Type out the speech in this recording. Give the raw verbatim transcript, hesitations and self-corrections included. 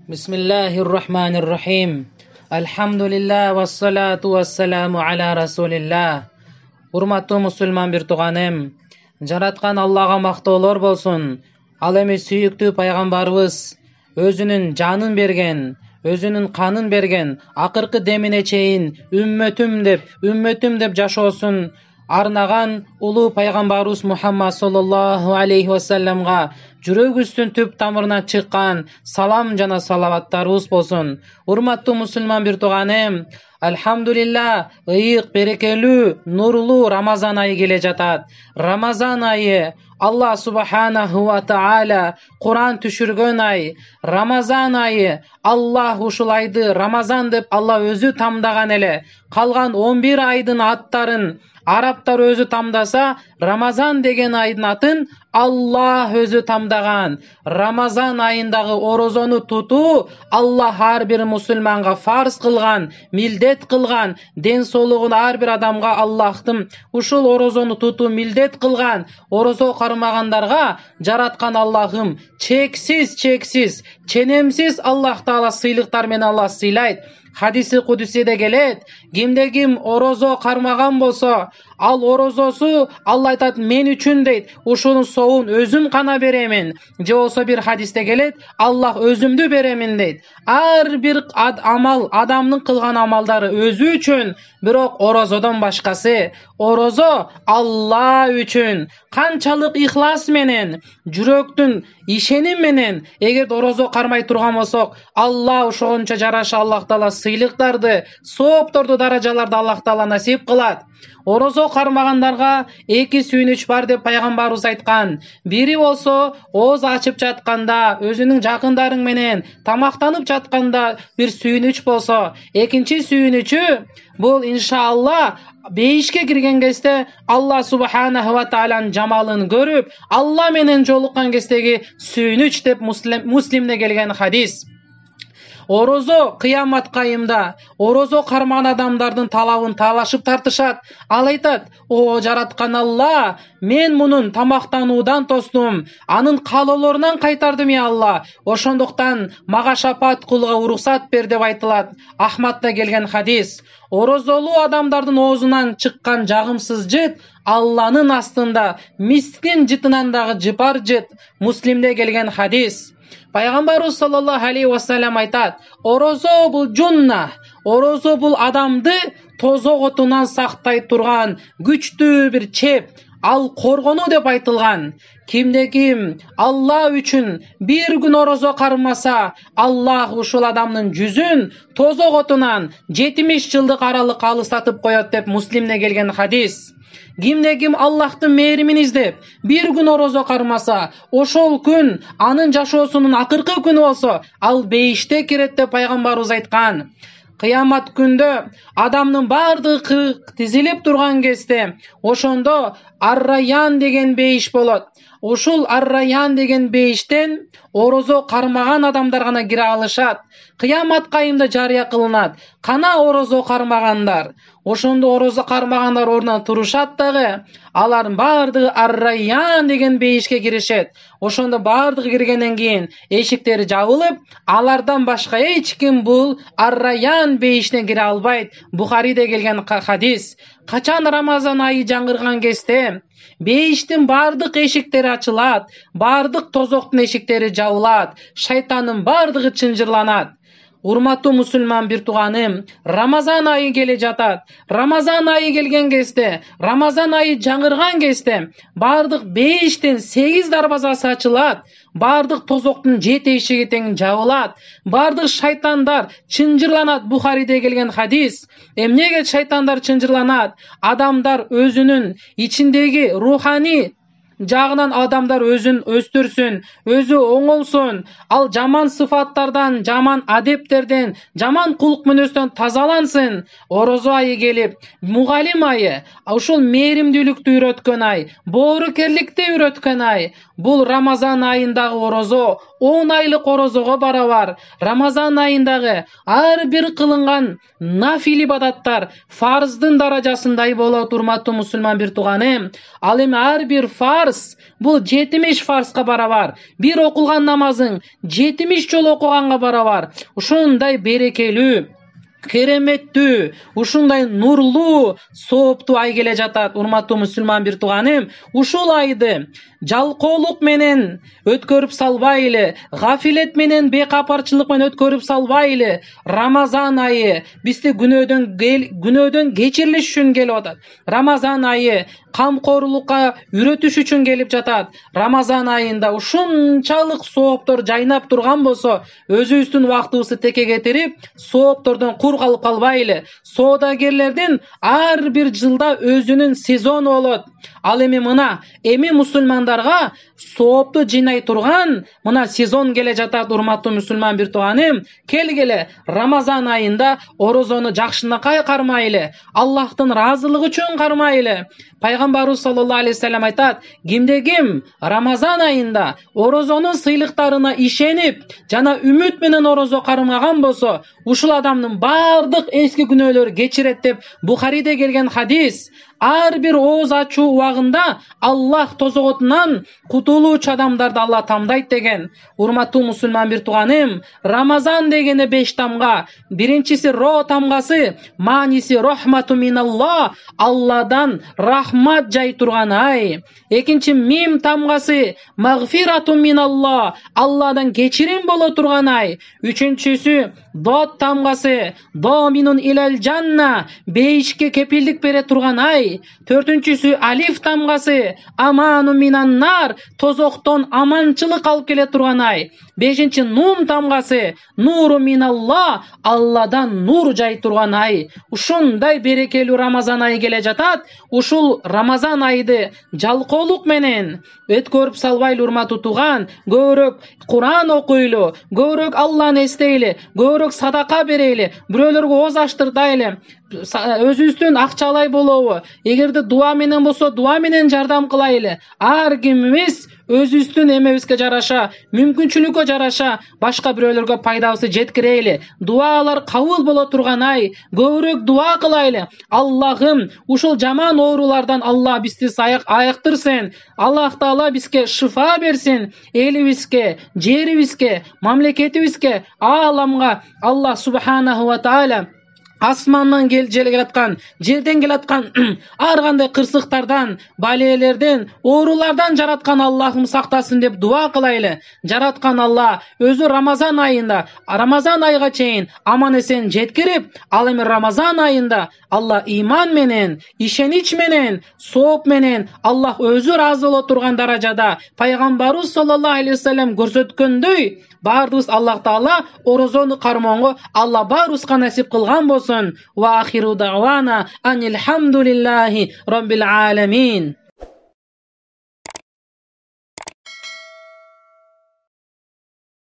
Бисмиллахир-рахманир-рахим. Алхамдулилlah вассалату вассаламу аля расулилlah. Урматтуу мусулман бир тууганым, жараткан Аллага мактоолор болсун. Ал эми сүйүктүү пайгамбарыбыз өзүнүн жанын берген, өзүнүн канын берген, акыркы демине чейин үммөтүм деп, үммөтүм деп жашоосун арнаган улуу пайгамбарыбыз Мухаммад саллаллаху алейхи вассаламга жүрөгүбүздүн түп тамырынан чыккан салам жана салаваттарыбыз болсун. Урматтуу мусулман бир тууганым, алхамдулилlah, ыйык, берекелүү, нурлуу Рамазан айы келе жатат. Рамазан айы Аллах субханаху ва таала Куран түшүргөн ай. Рамазан айы Аллах ушул айды Рамазан деп Алла өзү тамдаган эле. Калган он бир айдын аттарын арабтар өзү тамдаса, Рамазан деген айдын атын Аллах өзү тамдаган. Рамазан айындагы орозону тутуу Аллах ар бир мусулманга фарз кылган, милдет кылган. Ден соолугун ар бир адамга Аллахтын ушул орозону тутуу милдет кылган. Орозо кармагандарга жараткан Аллахым чексиз чексиз, ченемсиз Аллах таала сыйлыктар менен Алла сыйлайт. Хадиси кудусиде келет, кимде ким орозо кармаган болсо, ал орозосу Алла айтат мен үчүн дейт, ушунун соогун өзүм гана беремин. Же болсо бир хадисте келет, Аллах өзүмдү беремин дейт. Ар бир ад амал, адамдын кылган амалдары өзү үчүн, бирок орозодон башкасы, орозо Алла үчүн. Канчалык ихлас менен, жүрөктүн ишеним менен эгер орозо кармай турган болсок, Алла ошогончо жараша Аллах таала сыйлыктарды, соопторду, даражаларды Аллах таала насип кылат. Орозо кармагандарга эки сүйүнүч бар деп пайгамбарыбыз айткан. Бири болсо ооз ачып жатканда, өзүнүн жакындарың менен тамактанып жатканда бир сүйүнүч болсо, экинчи сүйүнүчү бул иншалла бейишке кирген кезде Алла субханаху ва тааланын жамалын көрүп, Алла менен жолуккан кездеги сүйүнүч деп Муслимде келген хадис. Орозо кыямат кайымда орозо кармаган адамдардын талабын талашып тартышат. Ал айтат: "О жараткан Алла, мен мунун тамактануудан тостум, анын каалоолорунан кайтардым я Алла. Ошондуктан мага шапаат кылууга уруксат бер" деп айтылат. Ахматта келген хадис. Орозолуу адамдардын оозунан чыккан жагымсыз жыт Алланын астында мискин жытынан дагы жыпар жыт. Муслимде келген хадис. Пайгамбарыбыз саллаллаху алейхи вассалам айтат: орозо бул жунна, орозо бул адамды тозок отунан сактай турган күчтүү бир чеп, ал коргонуу деп айтылган. Кимде ким Алла үчүн бир күн орозо кармаса, Аллах ушул адамдын жүзүн тозок отунан жетимиш жылдык аралыкка алыстатып коет деп Муслимде келген хадис. Кимде ким Аллахтын мээримин издеп бир күн орозо кармаса, ошол күн анын жашоосунун акыркы күнү болсо, ал бейиште кирет деп пайгамбарыбыз айткан. Кыямат күндө адамдын бардыгы тизилип турган кезде, ошондо Ар-Райян деген бейиш болот. Ушул Ар-Райян деген бейиштен орозо кармаган адамдар гана кире алышат. Кыямат кайымда жарыя кылынат: кана орозо кармагандар. Ошондо орозо кармагандар ордунан турушат дагы, алардын бардыгы Ар-Райян деген бейишке киришет. Ошондо бардыгы киргенден кийин эшиктери жабылып, алардан башка эч ким бул Ар-Райян бейишине кире албайт. Бухариде келген хадис. Качан Рамазан айы жаңырган кезде бейиштин бардык эшиктери ачылат, бардык тозоктун эшиктери жабылат, шайтандын бардыгы чынжырланат. Урматтуу мусулман бир тууганым, Рамазан айы келе жатат. Рамазан айы келген кезде, Рамазан айы жаңырган кезде бардык бейиштин сегиз дарбазасы ачылат, бардык тозоктун жети эшиги тең жабылат, бардык шайтандар чынжырланат. Бухариде келген хадис. Эмнеге шайтандар чынжырланат? Адамдар өзүнүн ичиндеги руханий жагынан адамдар өзүн өстүрсүн, өзү оңолсун, ал жаман сыфаттардан, жаман адептерден, жаман кулук мүнөздөн тазалансын. Орозо айы келип, мугалим айы, ушул мээримдүүлүктү үйрөткөн ай, боорукерликти үйрөткөн ай. Бул Рамазан айындагы орозо он айлык орозого барабар. Рамазан айындагы ар бир кылынган нафил ибадаттар фарздын даражасындай болот, урматтуу мусулман бир тууганым. Ал эми ар бир фарз бул жетимиш фарзга барабар. Бир окулган намазың жетимиш жолу окуганга барабар. Ушундай берекелүү, кереметтүү, ушундай нурлуу, сооптуу ай келе жатат, урматтуу мусулман бир тууганым. Ушул айды жалкоолук менен өткөрүп салбайлы, гафилет менен, бекапарчылык менен өткөрүп салбайлы. Рамазан айы бизди күнөөдөн күнөөдөн кечирилиш үчүн келип атат. Рамазан айы камкорлукка үйрөтүш үчүн келип жатат. Рамазан айында ушунчалык сооптор жайнап турган болсо, өзүбүздүн убактыбызды теке кетирип, сооптордон кур калып калбайлы. Соодагерлердин ар бир жылда өзүнүн сезону болот. Ал эми мына эми мусулмандарга соопту жыйнай турган мына сезон келе жатат, урматтуу мусулман бир тууганым. Келгиле Рамазан айында орозону жакшынакай кармайлы, Аллахтын ыраазылыгы үчүн кармайлы. Пайгамбарыбыз саллаллаху алейхи вассалам айтат: кимде ким Рамазан айында орозонун сыйлыктарына ишенип жана үмүт менен орозо кармаган болсо, ушул адамдын бардык эски күнөөлөрү кечирет деп Бухариде келген хадис. Ар бир ооз ачуу убагында Аллах тозоготунан кутулуучу адамдарды Алла тамдайт деген. Урматтуу мусулман бир тууганым, Рамазан дегене беш тамга. Биринчиси ро тамгасы, мааниси рахмату миналла, Алладан рахмат жай турган ай. Экинчи мим тамгасы, магфирату миналла, Алладан кечирим боло турган ай. Үчүнчүсү дот тамгасы, доминун илал жанна, бейишке кепилдик бере турган ай. Төртүнчүсү алиф тамгасы, аману минаннар, тозоктон аманчылык алып келе турган ай. Бешинчи нун тамгасы, нуру миналла, Алладан нур жай турган ай. Ушундай берекелүү Рамазан айы келе жатат. Ушул Рамазан айды жалкоолук менен өткөрүп салбайлы, урматтуу тууган. Көбүрөөк Куран окуйлу, көбүрөөк Алланы эстейли, көбүрөөк садака берейли, бирөөлөргө ооз ачтыртайлы, өзүбүздүн акчалай болобу, эгерде дуа менен болсо дуа менен жардам кылайлы. Ар кимибиз өзүбүздүн эмебизге жараша, мүмкүнчүлүккө жараша башка бирөөлөргө пайдабызды жеткирейли. Дуалар кабыл боло турган ай. Көбүрөөк дуа кылайлы. Аллахым, ушул жаман оорулардан Алла бизди айыктырсын. Аллах Таала бизге шифа берсин. Элибизге, жерибизге, мамлекетибизге, ааламга Аллах субханаху ва таала асмандан келаткан, жерден келаткан ар кандай кырсыктардан, балелерден, оорулардан жараткан Аллахым сактасын деп дуа кылайлы. Жараткан Алла өзү Рамазан айында, Рамазан айга чейин аман эсен жеткирип, ал эми Рамазан айында Алла иман менен, ишенич менен, сооп менен Аллах өзү ыраазы боло турган даражада пайгамбарыбыз саллаллаху алейхи вассалам көрсөткөндөй бардыбыз Аллах Таала орозону кармоого Алла баарыбызга насип кылган болсун. Ва ахиру дa'wana анил хамдулиллахи rabbil alamin.